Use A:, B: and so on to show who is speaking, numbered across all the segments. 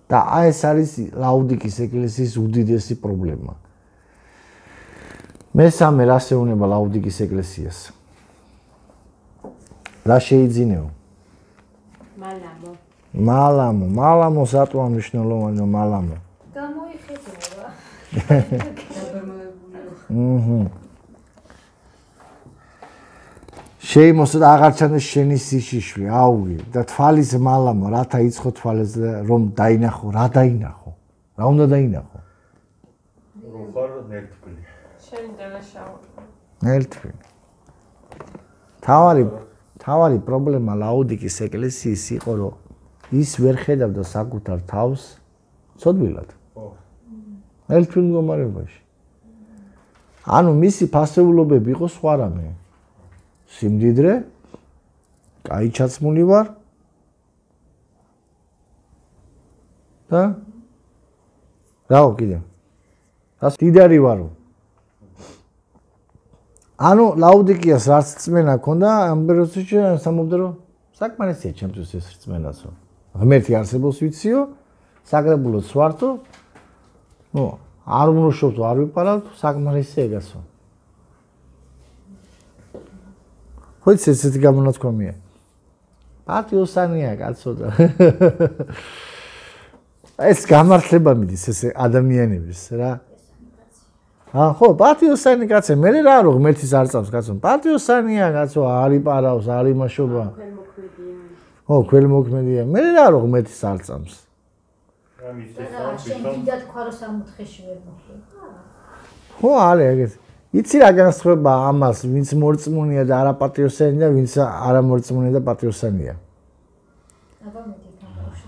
A: და ეს არის ლაუდიკის ეკლესიის უდიდესი პრობლემა. მესამე რას ეუბნება ლაუდიკის ეკლესიას? რა შეიძინეო? მალამო სატუა მნიშვნელოვანია მალამო.
B: გამოიხედა.
A: შეიმოსა და აღარ ჩანდეს შენი სიშიშვე, აუგი და თვალის მალამო, რათა იცხო თვალებს რომ დაინახო, რა დაინახო? რა უნდა დაინახო?
C: რომ ხარ ნერტფილი.
B: შენი დანაშაული.
A: ნერტფილი. თავარი პრობლემა ლაუდიკის ეკლესიის იყო, რომ ის ვერ ხედავდა საკუთარ თავს ცოდვილად. ნერტფილ მდგომარეობაში. ანუ მისი ფასეულობები იყო სხვა რამე. სიმდიდრე, კაი ჩაცმული ვარ და რაო კიდე? რას დიდარი ვარო? ანუ ლაუდიკიას რაც რწმენა ჰქონდა, ამ პერიოდში სამობდა რომ საკმარისია ჩემთვის ეს რწმენასო. ღმერთი არსებობს ვიციო, საკრებულოც ვართო. ნუ არ ვმრუშობ, არ ვიპარავ, საკმარისია ეგასო. ხო იცი ესეთი გამონათქვამია. პატიოსანია კაცო და ეს გამართლება მიდის ეს ადამიანების რა. ხო, პატიოსანი კაცე, მე რა რო ღმერთის არ წავს კაცო. პატიოსანია კაცო, არ იპარავს, არ იმაშობა. ხო, ქველმოქმედია. მე რა რო ღმერთის არ წავს.
D: შენ დიდად თქვა რომ 64-ში ვერ მოხდა.
A: ხო, არა ეგეთ. იცი რა განსხვავება ამას, ვინც მორწმუნეა და არა პატიოსანი და ვინც არა მორწმუნე და პატიოსანია?
D: აბა მეტი თამაში.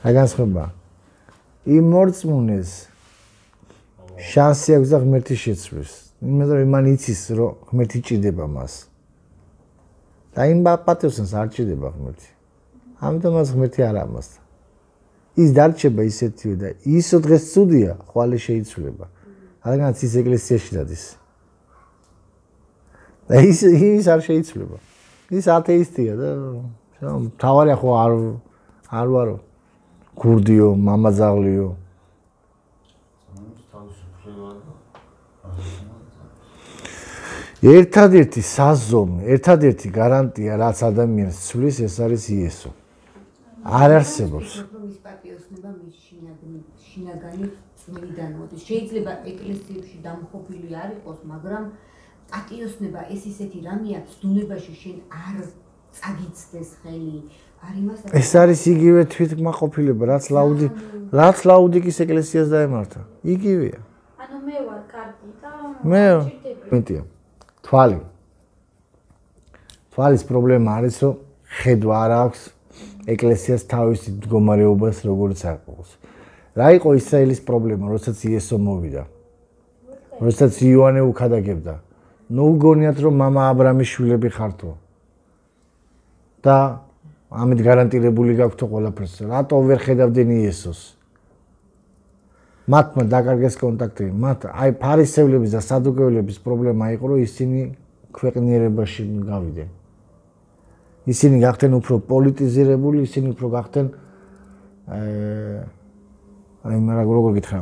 A: რა განსხვავება? იმ მორწმუნეს შანსი აქვს და ღმერთი შეცვლის. იმიტომ რომ მან იცის რომ ღმერთი ჭირდება მას. და იმ პატიოსანს არ ჭირდება ღმერთი. ამიტომ მას ღმერთი არ ამასდა. ის დარჩება ისეთივე და ისო დღეს ცუდია, ხვალე შეიცვლება. რადგანაც ის ეკლესიაში დადის. და ის არ შეიცვლება. ის ათეისტია და თავარია ხო არ ვარო. გურდიო, მამაძაღლიო. ერთადერთი საზომი, ერთადერთი გარანტია, რაც ადამიანს ცვლის, ეს არის იესო. არ არსებობს.
E: ის პატიოსნება მის შინაგანი წვლიდან მოდის. შეიძლება ეკლესიებში დამხობილი არ იყოს, მაგრამ პატიოსნება ეს ისეთი რამეა, ცდუნებაში შენ არ წაგიცდეს ხელი. არ იმას
A: ეს არის იგივე თვითკმაყოფილება, რაც ლაუდიკის ეკლესიას დაემართა. იგივეა.
D: ანუ მე ვარ კარგი და
A: მეტია. თვალის პრობლემა არის, რომ ხედვა არ აქვს ეკლესიას თავისი მდგომარეობას როგორც აყავს. რა იყო ისრაელის პრობლემა, როდესაც იესო მოვიდა? როდესაც იოანე უქადაგებდა. ნუ გონიათ რომ მამა აბრამის შვილები ხართო. და ამით გარანტირებული გაქვთ ყველაფერს. რატო ვერ ხედავდნენ იესოს? მათმა დაკარგეს კონტაქტი. მათ აი ფარისევლების და სადუკევლების პრობლემა იყო, რომ ისინი ქვეყნიერებაში გავიდნენ. ისინი გახდნენ უფრო პოლიტიზირებული, ისინი უფრო გახდნენ აი როგორ გითხრა?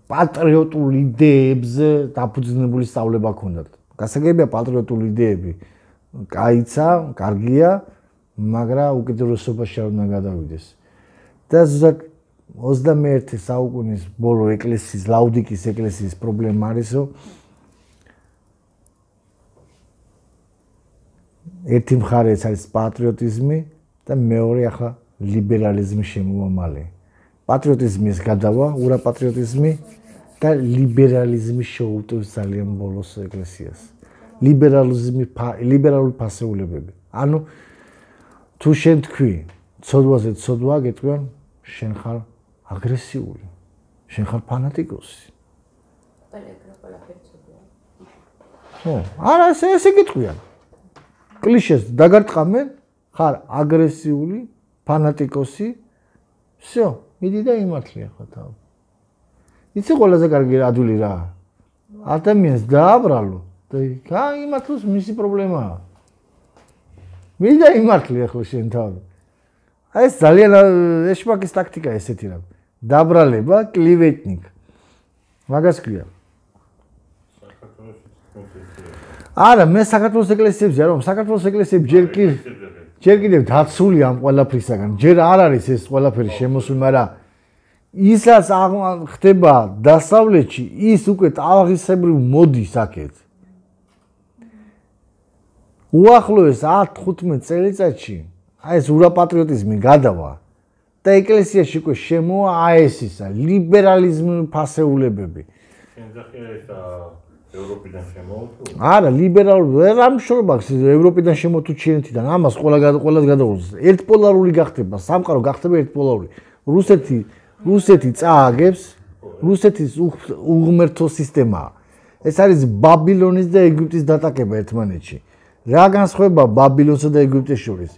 A: პატრიოტულ იდეებზე დაფუძნებული სწავლება ჰქონდათ. გასაგებია პატრიოტული იდეები. კაიცა, კარგია, მაგრამ უკიდურესობაში არ უნდა გადავიდეს. და ზუსტად 21 საუკუნის ბოლო ეკლესიის, ლაუდიკის ეკლესიის პრობლემა არის, რომ ერთი მხარე არის პატრიოტიზმი და მეორე ახლა ლიბერალიზმი შემოვამალე. პატრიოტიზმის გადავა, ურაპატრიოტიზმი და ლიბერალიზმი შეუტევს ძალიან ბოლოს ეკლესიას. ლიბერალური ფასეულებები. ანუ თუ შენ თქვი, ცოდვაზე ცოდვა გეტყვიან, შენ ხარ აგრესიული, შენ ხარ ფანატიკოსი. ხო, არა ესე გეტყვიან. კლიშეს დაგარტყამენ, ხარ აგრესიული, ფანატიკოსი. всё, მიდი და იმართლი ახლა თავი. იცი ყველაზე კარგი ადვილი რა? ადამიანს დააბრალო და იმართლოს მისი პრობლემაა. მიდი და იმართლი ახლა შენ თავი. ეს ძალიან ეშმაკის ტაქტიკა ესეთი რა. დაბრალება, კლივეტნიკ. მაგას ქვია. არა, მე საქართველოს ეკლესიებზე არ ვარ, საქართველოს ეკლესიები ჯერ კიდევ დაცული ამ ყველაფრისაგან. ჯერ არ არის ეს ყველაფერი შემოსული, მაგრამ ისაც ხდება დასავლეთში, ის უკვე ტალღისებრივ მოდის აქეთ. უახლოეს 10-15 წელიწადში აი ეს ურაპატრიოტიზმი გადავა და ეკლესიაში უკვე შემოა ეს ისა ლიბერალიზმის ფასეულებები.
C: შენძახია ეს ევროპიდან შემოვთუ?
A: არა, ლიბერალური რა მშრომaks ევროპიდან შემოთუ ჩინეთიდან. ამას ყველას გადაუძლებს. ერთპოლარული გახდება, სამყარო გახდება ერთპოლარული. რუსეთი წააგებს, რუსეთის უღმერთო სისტემაა. ეს არის ბაბილონის და ეგვიპტის დატაკება ერთმანეთში. რა განსხვავება ბაბილონსა და ეგვიპტეს შორის?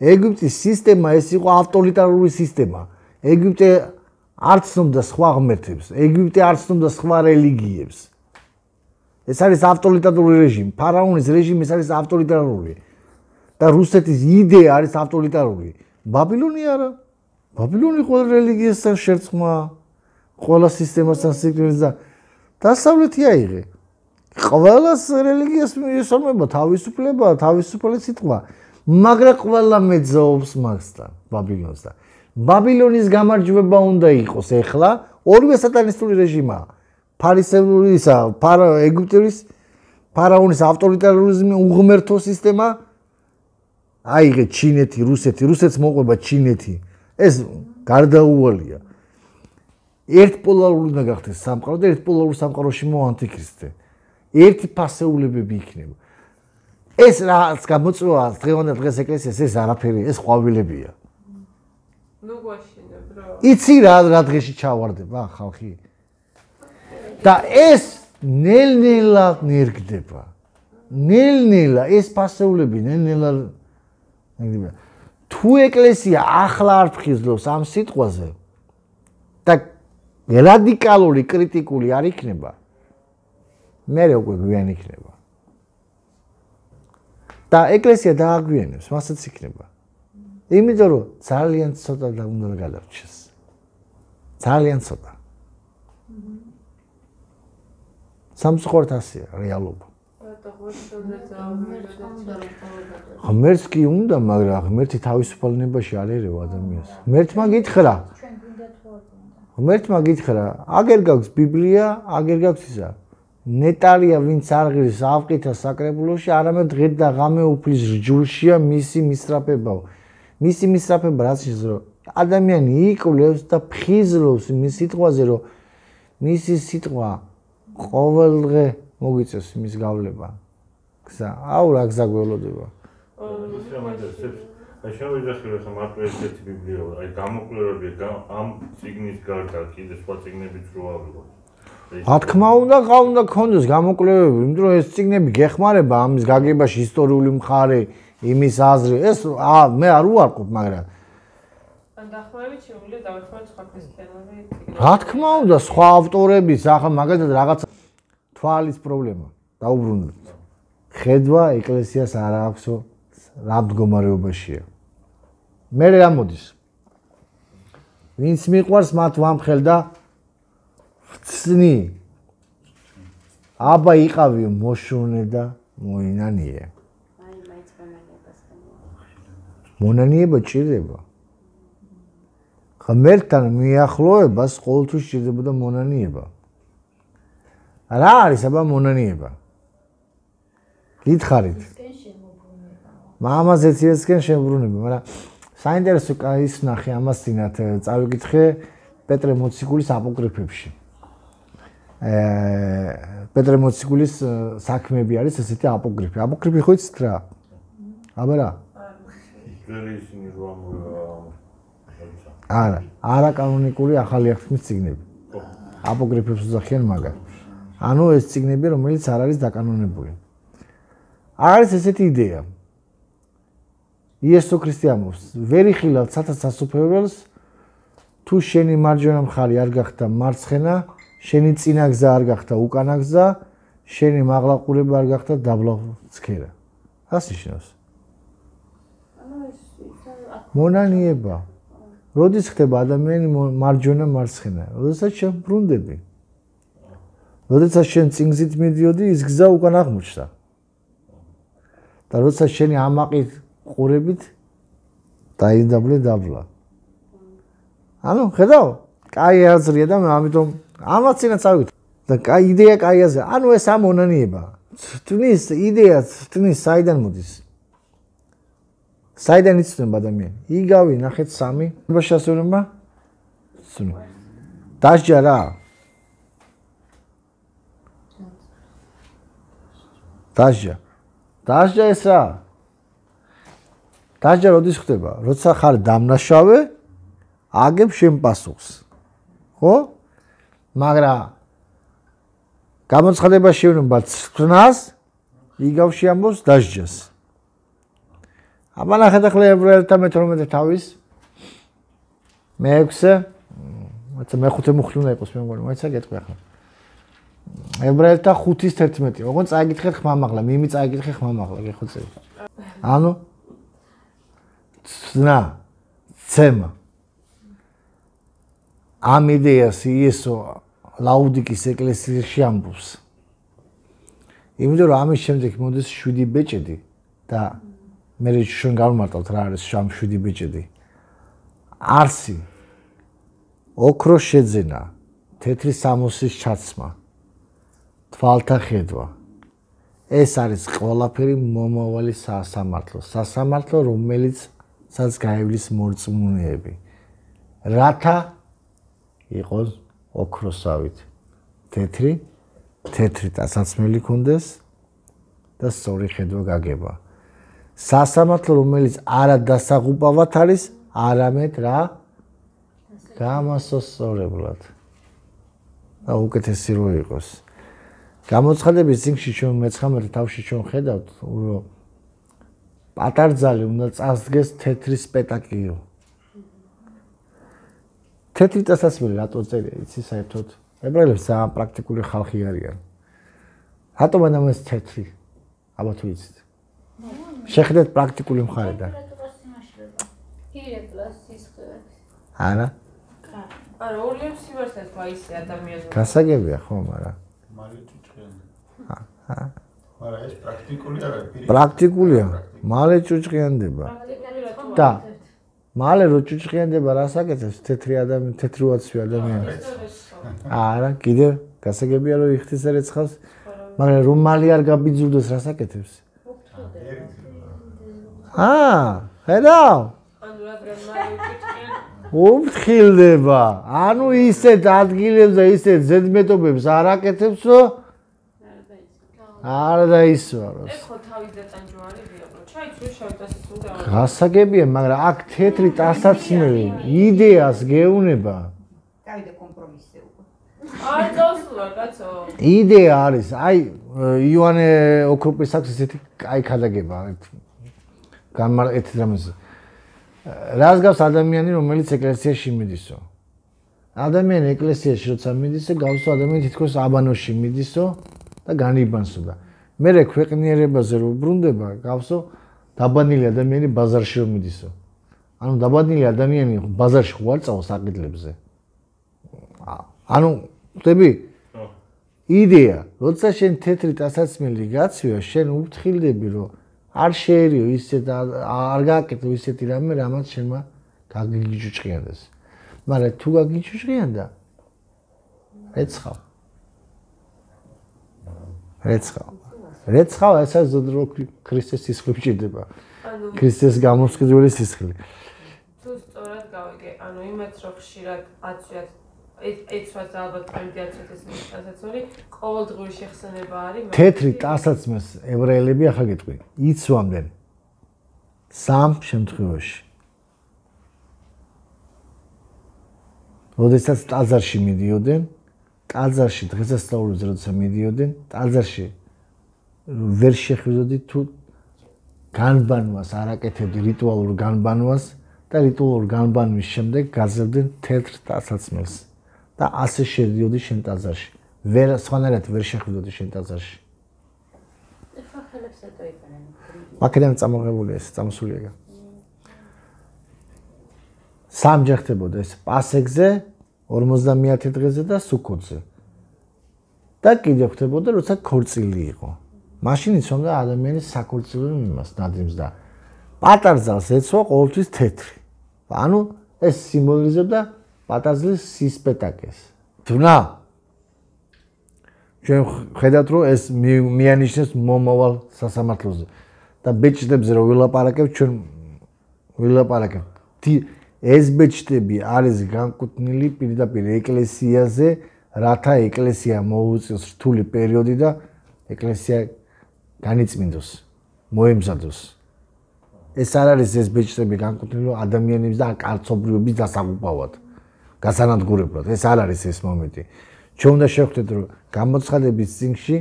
A: ეგვიპტის სისტემა ეს იყო ავტორიტარული სისტემა. ეგვიპტე არ ცნობდა სხვა ღმერთებს, ეგვიპტე არ ცნობდა სხვა რელიგიებს. ეს არის ავტორიტარული რეჟიმი. ფარაონის რეჟიმი ეს არის ავტორიტარული. და რუსეთის იდეა არის ავტორიტარული. ბაბილონი არა. ბაბილონი ყველა რელიგიასთან შერწყმა, ყველა სისტემასთან სიკვდილს და დასავლეთი აიღე. ყველას რელიგიას მიესალმება თავისუფლება, თავისუფალი სიტყვა, მაგრამ ყველა მეძაობს მასთან, ბაბილონსთან. ბაბილონის გამარჯვება უნდა იყოს ეხლა, ორივე სატანისტური რეჟიმაა. ფარისეულისა, ეგვიპტის ფარაონის ავტორიტარიზმი, უღმერთო სისტემა, აიღე ჩინეთი, რუსეთს მოყვება ჩინეთი. ეს გარდაუვალია. ერთპოლარული უნდა გახდეს სამყარო და ერთპოლარულ სამყაროში მოვა ანტიქრისტე. ერთი ფასეულებები იქნება. ეს რაც გამოწვევა დღევანდელ დღეს ეკლესიას ეს არაფერი, ეს ყვავილებია.
B: ნუ გვაშინებ რა.
A: იცი რა დღეში ჩავარდება ხალხი. და ეს ნელ-ნელა ნერგდება. ნელ-ნელა ეს ფასეულები ნელ-ნელა ნერგდება. თუ ეკლესია ახლა არ ფხიზლობს ამ სიტყვაზე და რადიკალური კრიტიკული არ იქნება, მერე უკვე გვიან იქნება. და ეკლესია დააგვიანებს, მასაც იქნება. იმიტომ რომ ძალიან ცოტა და უნდა გადარჩეს. ძალიან ცოტა. სამწუხაროდ ასეა რეალობა. ღმერთს კი უნდა, მაგრამ ღმერთი თავისუფალნებაში არ ერევა ადამიანს. ღმერთმა გითხრა. ღმერთმა გითხრა, აგერ გაქვს ბიბლია, აგერ გაქვს ისა. ნეტარია ვინც არ ღირს ავყითა საკრებულოში, არამედ დღე და ღამე უფლის რჯულშია მისი მისწრაფებაო. მისი მისწრაფება რაც ის რომ ადამიანი იკვლევს და ფხიზლობს მის სიტყვაზე, რომ მისი სიტყვა ყოველდღე მოგიწევს მის გავლება. გზა, აუ რა გზა გველოდება.
C: აი შევიძახილე ხა მარტო ერთ-ერთი ბიბლია, აი გამოკვლევები ამ წიგნის გარდა კიდე სხვა წიგნებიც რო ავიღოთ.
A: რა თქმა უნდა, უნდა გქონდეს გამოკვლევები, იმიტომ რომ ეს წიგნები გეხმარება ამის გაგებაში ისტორიული მხარე, იმის აზრი. ეს მე არ უარყოფ, მაგრამ
B: ან დახმარებით შეუძლია დავეხმაროთ სხვა ქრისტიანული წიგნები.
A: რა თქმა უნდა, სხვა ავტორების, ახლა მაგალითად რაღაცა თვალის პრობლემა დაუბრუნდეთ. ხედვა ეკლესიას არ აქვსო, რა მდგომარეობაშია. მე რა მოდის? ვინც მიყვარს მათ ვამხელ და ხცნი. აბა იყავი მოშუნე და მოინანიე.
E: აი მაინც მონანიებასთან.
A: მონანიება ჭირდება. ღმერთთან მიახლოებას ყოველთვის ჭირდებოდა მონანიება. რა არის აბა მონანიება? გითხარით. მამაზეც ესკენ შემოbrunება, მაგრამ საინტერესო ის ნახე ამას წინათ წავიკითხე პეტრე მოციქულის აპოკრიფებში. პეტრე მოციქულის საქმეები არის ესეთი აპოკრიფი. აპოკრიფი ხო იცით რა? აბა რა? არა, არაკანონიკური ახალი აღთქმის წიგნები. აპოკრიფებს უძახიან მაგას. ანუ ეს წიგნები, რომელიც არ არის დაკანონებული. არის ესეთი იდეა. იესო ქრისტე ამბობს, ვერ იხილავ ცათა სასუფეველს, თუ შენი მარჯვენა მხარი არ გახდა მარცხენა, შენი წინა გზა არ გახდა უკანა გზა, შენი მაღლაყურება არ გახდა დაბლა ცქერა. რას ნიშნავს?
E: ანუ ეს
A: მონანიება. როდის ხდება ადამიანი მარჯვენა მარცხენა? როდესაც შენ ბრუნდები. როდესაც შენ წინგზით მიდიოდი, ის გზა უკან აღმოჩნდა. და როდესაც შენი ამაყით ყურებით დაიდაბლე დაბლა. ანუ ხედავ? კაი აზრია და ამიტომ ამაც წინაც ავით. და კაი იდეა კაი აზრია. ანუ ეს ამონანიება. თვნის იდეა, თვნის საიდან მოდის? საიდან იცნება ადამიანი? იგავი ნახეთ 3 შესაძლებლობა. დასჯა რა? დასჯა. დასჯა ეს რა? დასჯა როდის ხდება? როცა ხარ დამნაშავე, აგებ შენ პასუხს. ხო? მაგრამ გამოცხადება შეუნება ცნას, იგავში ამბობს დასჯას. აბა ნახეთ ახლა ებრაელთა მე-12 თავის მე-6 მოიცა მე-5 მუხლი უნდა იყოს მე მგონი მოიცა გეტყვი ახლა ებრაელთა 5-ის 11 ოღონდ წაიგითხეთ ხმამაღლა მიმი წაიგითხე ხმამაღლა გეხო წელი ანუ ცნა ცემა ამ იდეას იესო ლაუდიკის ეკლესიაში ამბობს იმიტომ რომ ამის შემდეგ მოდის 7 ბეჭედი და მე შენ გავმარტავთ რა არის შამ 7 ბეჭედი არსი ოქროს შეძენა თეთრი სამოსის ჩაცმა თვალთა ხედვა ეს არის ყველაფერი მომავალი სასამართლო რომელიცაც გაივლის მორწმუნეები რათა იყოს ოქროსავით თეთრი ტასაცმელი კონდეს და სწორი ხედვა გაგება სასამართლო რომელიც არა დასაღუპავად არის არამედ რა გამასოსწორებლად და უკეთესი რო იყოს გამოცხადების წიგნში ჩვენ მე-19 თავში ჩვენ ხედავთ რომ პატარძალი უნდა წასდგეს თეთრი სპეტაკლიო თეთრი ტასაცმელი რატო წერია იცი საერთოდ ებრაელებს ძალიან პრაქტიკული ხალხი არიან რატომ ამას თეთრი აბა თუ იცით შეხედეთ პრაქტიკული მხარიდან. არა?
B: არა, ორივე სიმართლეს ვაისე ადამიანს.
A: გასაგებია ხო, მაგრამ.
F: მალე ჭუჭყიანდება. მაგრამ ეს პრაქტიკული არა,
A: პრაქტიკულია. მალე ჭუჭყიანდება. და მალე რო ჭუჭყიანდება, რას აკეთებს? თეთრი უაცვი ადამიანი. არა, კიდევ გასაგებია რომ იხთის ერეცხავს, მაგრამ რომ მალე არ გაბიძურდეს, რას აკეთებს? ხედავ? უფრთხილდება. ანუ ისეთ ადგილებს და ისეთ ზედმეტობებს არ აკეთებს, რომ არ დაისვაროს.
B: ეხო თავის დაწანჯვარებია, რომ ჩაიცვი შავი ტასაცმელი და
A: გასაგებია, მაგრამ აქ თეთრი ტასაცმელი იდეას გეუნება.
E: დავიდა კომპრომისზე უკვე.
B: არ წავსულა, კაცო.
A: იდეა არის, აი ივანე ოქროპის აქვს ესეთი კაი ქადაგება, ერთ რამეს. რას გავს ადამიანი, რომელიც ეკლესიაში მიდისო? ადამიანი ეკლესიაში როცა მიდისო, გავსო ადამიანი თითქოს აბანოში მიდისო და განიბანსო და მე ქვეყნიერებაზე რო ბრუნდება, გავსო დაბანილი ადამიანი ბაზარში რომ მიდისო. ანუ დაბანილი ადამიანი ბაზარში ხო არ წავს აყიდლებზე. ანუ ხვდები? იდეა, როცა შენ თეთრი ტასაცმელი გაცვია, შენ უფრთხილდები, რომ არ შეერიო ისეთ არ გააკეთო ისეთი რამე, რამაც შენმა გაგიჭუჭყიანდეს. მაგრამ თუ გაგიჭუჭყიანდა, რეცხავ. რეცხავ ესა ზოდრო ქრისტეს სისხლი ჭირდება. ქრისტეს გამოსყიდველი სისხლი.
B: თუ სწორად გავიგე, ანუ იმაც რომ ხშირად აცვიათ ეცვაც ალბათ პრემდი აცვიათ ეს ტასაცმელი, ყოველდღიური შეხსენება არის.
A: თეთრი ტასაცმელს ებრაელები ახლა გეტყვი, იცვამდნენ 3 შემთხვევაში. როდესაც ტაძარში მიდიოდნენ, ტაძარში დღესასწაულზე როცა მიდიოდნენ, ტაძარში ვერ შეხვდოდი თუ განბანვას არ აკეთებდი რიტუალურ განბანვას და რიტუალურ განბანვის შემდეგ გაძებდნენ თეთრ ტასაცმელს და ასე შედიოდი შენ ტაძარში. ვერ სხვანაირად ვერ შეხვდოდი შენ ტაძარში.
D: ეხლა ხელებს ეტოებენ.
A: მაქედან წამოღებული ეს წამოსულია. სამჯერ ხდებოდა ეს პასექზე 50 დღეზე და სუქოთზე. და კიდევ ხდებოდა როცა ქორწილი იყო. მაშინ იცნობდა ადამიანის საქორწილო მიმას ნადიმს და პატარძალს ეცვა ყოველთვის თეთრი. ანუ ეს სიმბოლიზებდა პატარძლის სისპეტაკეს. თუნა ჩვენ ხედავთ რომ ეს მიანიშნებს მომავალ სასამართლოზე და ბეჭდებზე რომ ვილაპარაკებ ჩვენ ვილაპარაკებთ. ეს ბეჭდები არის განკუთვნილი პირდაპირ ეკლესიაზე, რათა ეკლესია მოუწიოს რთული პერიოდი და ეკლესია განიწმინდოს, მოემზადოს. ეს არ არის ეს ბეჭდები განკუთვნილი ადამიანების და კაცობრიობის დასაღუპავად, გასანადგურებლად. ეს არ არის ეს მომენტი. ჩვენ უნდა შევხვდეთ რომ გამოცხადების წიგნში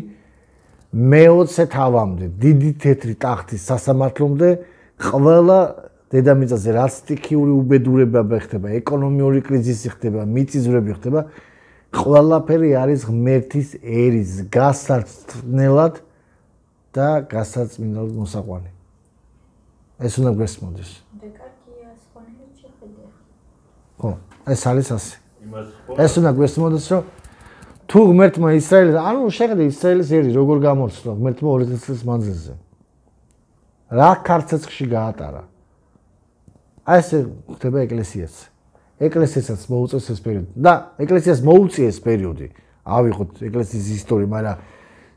A: მე-20 თავამდე დიდი თეთრი ტახტის სასამართლომდე ყველა დედამიწაზე რაც სტიქიური უბედურება ხდება, ეკონომიური კრიზისი ხდება, მიწისძვრები ხდება, ყველაფერი არის ღმერთის ერის გასაცნელად და გასაწმინდად მოსაყვანი. ეს უნდა გვესმოდეს.
D: დეკარტიას ხონერით შეხედე.
A: ხო, ეს არის ასე. ეს უნდა გვესმოდეს, რომ თუ ღმერთმა ისრაელის, ანუ შეხედე ისრაელის ერი როგორ გამორჩა ღმერთმა 2000 წლის მანძილზე. რა ქარცეცხლში გაატარა. აი ეს ხდება ეკლესიაც. ეკლესიასაც მოუწევს ეს პერიოდი და ეკლესიას მოუწია ეს პერიოდი. ავიღოთ ეკლესიის ისტორია, მაგრამ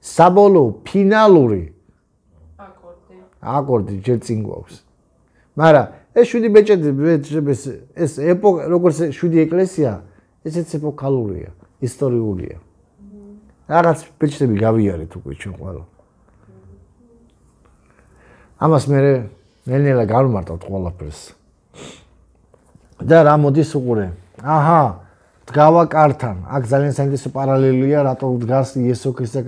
A: საბოლოო ფინალური აკორდი ჯერ წინ გვაქვს. მაგრამ ეს 7 ბეჭედი ეს ეპოქა როგორც 7 ეკლესია, ესეც ეპოქალურია, ისტორიულია. რაღაც ბეჭდები გავიარეთ უკვე ჩვენ ყველა. ამას მე ნელ-ნელა გავმარტავთ ყველაფერს. და რა მოდის უყურე. აჰა, დგავა კართან. აქ ძალიან საინტერესო პარალელია, რატო დგას იესო ქრისტე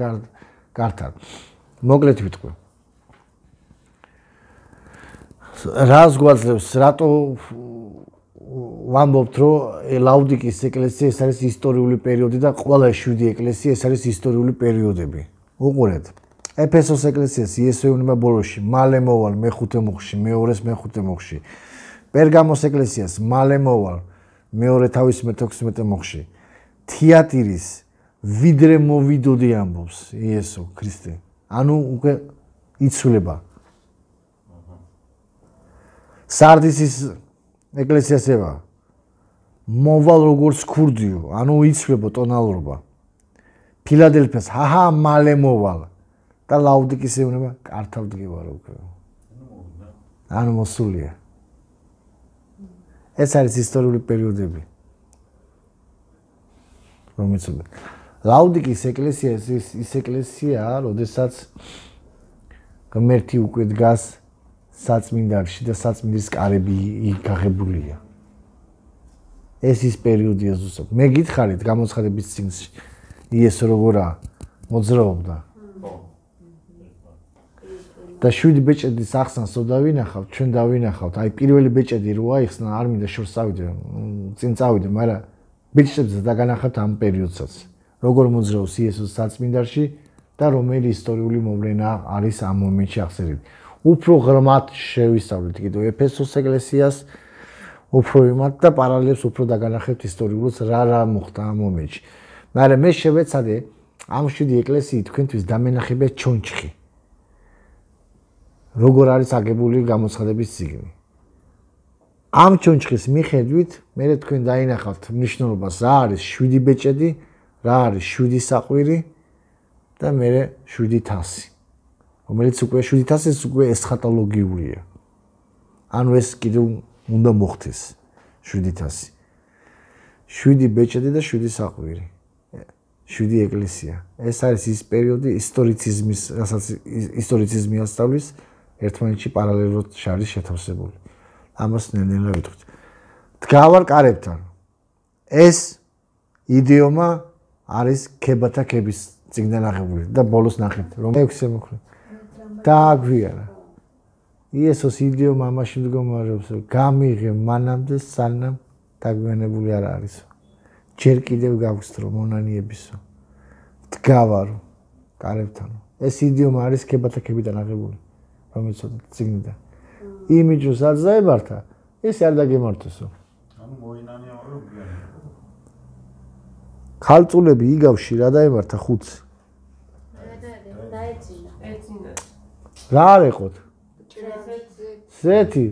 A: კართან. მოკლედ ვიტყვი. რას გვაძლევს, რატო ვამბობთ, რომ ლაუდიკის ეკლესია ეს არის ისტორიული პერიოდი და ყველა 7 ეკლესია ეს არის ისტორიული პერიოდები. უყურეთ. ეფესოს ეკლესიას იესო ეუბნება ბოლოში, მალე მოვალ მე-5 მუხში, მე-2-ს მე-5 მუხში. პერგამოს ეკლესიას მალე მოვალ მეორე თავის მე-16 მუხში. თიატირის ვიდრე მოვიდოდი ამბობს იესო ქრისტე. ანუ უკვე იცვლება. სარდისის ეკლესიას ევა მოვალ როგორც ქურდიო, ანუ იცვლება ტონალურობა. ფილადელფიას ჰაჰა მალე მოვალ და ლაუდიკის ეუბნება კართავ დგევარ უკვე. ანუ მოსულია. ეს არის ისტორიული პერიოდები. რომელიც ლაუდიკის ეკლესია ის ეკლესიაა, როდესაც ღმერთი უკვე დგას საწმინდარში და საწმინდის კარები გაღებულია. ეს ის პერიოდია ზუსტად. მე გითხარით გამოცხადების წიგნში იესო როგორა მოძრაობდა. და 7 ბეჭედის ახსნას დავინახავთ, ჩვენ დავინახავთ. აი პირველი ბეჭედი რო აიხსნა, არ მინდა შორს წავიდე, წინ წავიდე, მაგრამ ბეჭედებს დაგანახავთ ამ პერიოდსაც. როგორ მოძრაობს იესოს საწმინდარში და რომელი ისტორიული მოვლენა არის ამ მომენტში აღწერილი. უფრო ღრმად შევისწავლეთ კიდევ ეფესოს ეკლესიას, უფრო იმათ და პარალელებს უფრო დაგანახებთ ისტორიულს რა მოხდა ამ მომენტში. მაგრამ მე შევეცადე ამ 7 ეკლესიით თქვენთვის დამენახებია ჩონჩხი. როგორ არის აგებული გამოცხადების წიგნი. ამ ჩონჩხის მიხედვით მე თქვენ დაინახავთ მნიშვნელობას რა არის 7 ბეჭედი, რა არის 7 საყვირი და მე 7 თასი. რომელიც უკვე 7 თასი უკვე ესხატოლოგიურია. ანუ ეს კიდევ უნდა მოხდეს 7 თასი. 7 ბეჭედი და 7 საყვირი. 7 ეკლესია. ეს არის ის პერიოდი ისტორიციზმის, რასაც ისტორიციზმი ასწავლის ერთმანეთში პარალელურად შარის შეთავსებული. ამას ნელ-ნელა ვიტყვით. დგავარ კარებთან. ეს იდიომა არის ქებათა ქების წიგნიდან აღებული და ბოლოს ნახეთ რომ 6 მოხდა. დააგვიარა. იესოს იდიომა ამაში მდგომარეობს რომ გამიღე მანამდე სანამ დაგვიანებული არ არისო. ჯერ კიდევ გავგსტრო მონანიებისო. დგავარო კარებთანო. ეს იდიომა არის ქებათა ქებიდან აღებული. რომელიც წიგნიდან. იმიჯოს არ ზაებართა, ეს არ დაგემართოსო.
F: ანუ
A: ქალწულები იგავში რა დაემართა ხუთს?
D: დაეცინა.
B: ეცინა.
A: რა არ ეყოთ? ზეთი.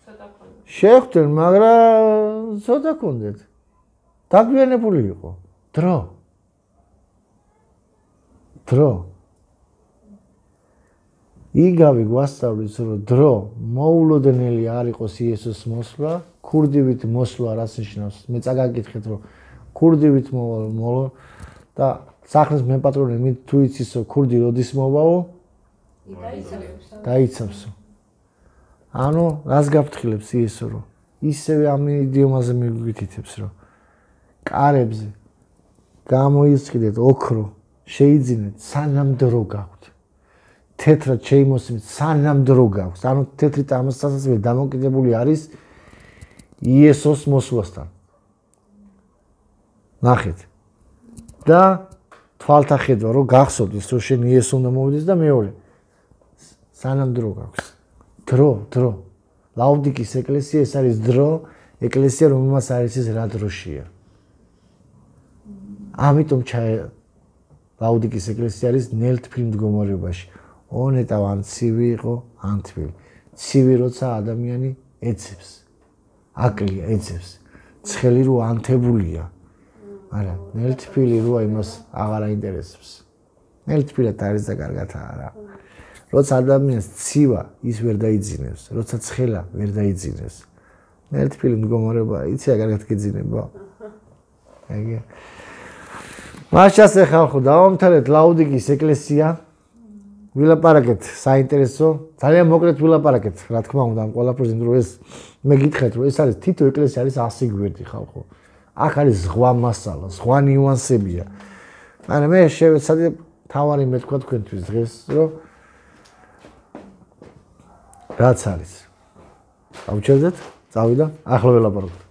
B: ცოტა ქონდა.
A: შეხვდნენ, მაგრამ ცოტა ქონდეთ. დაგვიანებული იყო. დრო. იგავი გვასწავლის, რომ დრო მოულოდნელი არ იყოს იესოს მოსვლა, ქურდივით მოსვლა რას ნიშნავს? მე წაგაკითხეთ, რომ ქურდივით მოვალ და სახლის მეპატრონე მით თუ იცისო ქურდი როდის მოვაო? დაიცავსო. ანუ რას გაფრთხილებს იესო, რომ ისევე ამ იდიომაზე მიგვითითებს, რომ კარებზე გამოისყიდეთ ოქრო, შეიძინეთ სანამ დრო გაქვთ. თეთრად შეიმოსიმით სანამ დრო გაქვს. ანუ თეთრი წამოსასწრებელი დამოკიდებული არის იესოს მოსვლასთან. ნახეთ. და თვალთა ხედვა რომ გახსოვდეს რომ შენ იესო უნდა მოვიდეს და მეორე სანამ დრო გაქვს. დრო. ლაუდიკის ეკლესია ეს არის დრო, ეკლესია რომელმაც არის ეს რა დროშია. ამიტომ ლაუდიკის ეკლესია არის ნელთბილ მდგომარეობაში. ონეტავ ან ცივი იყო, ან თბილი. ცივი როცა ადამიანი ეცებს. აკლია, ეცებს. ცხელი რო ანთებულია. მაგრამ ნელთბილი როა იმას აღარ აინტერესებს. ნელთბილად არის და კარგად არა. როცა ადამიანს ცივა, ის ვერ დაიძინებს, როცა ცხელა ვერ დაიძინებს. ნელთბილი მდგომარეობა, იცი რა კარგად გიძინება. აიგე. მაშას ხალხო, დავამთავრეთ ლაუდიკის ეკლესია. ვილაპარაკეთ საინტერესო, ძალიან მოკლედ ვილაპარაკეთ, რა თქმა უნდა, ამ ყველაფერზე, რომ ეს მე გითხრათ, რომ ეს არის თითო ეკლესია არის 100 გვერდი ხალხო. აქ არის ზღვა მასალა, ზღვა ნიუანსებია. მაგრამ მე შევეცადე თავარი მეთქვა თქვენთვის დღეს, რომ რაც არის. გავჩერდეთ, წავიდა, ახლა ვილაპარაკოთ.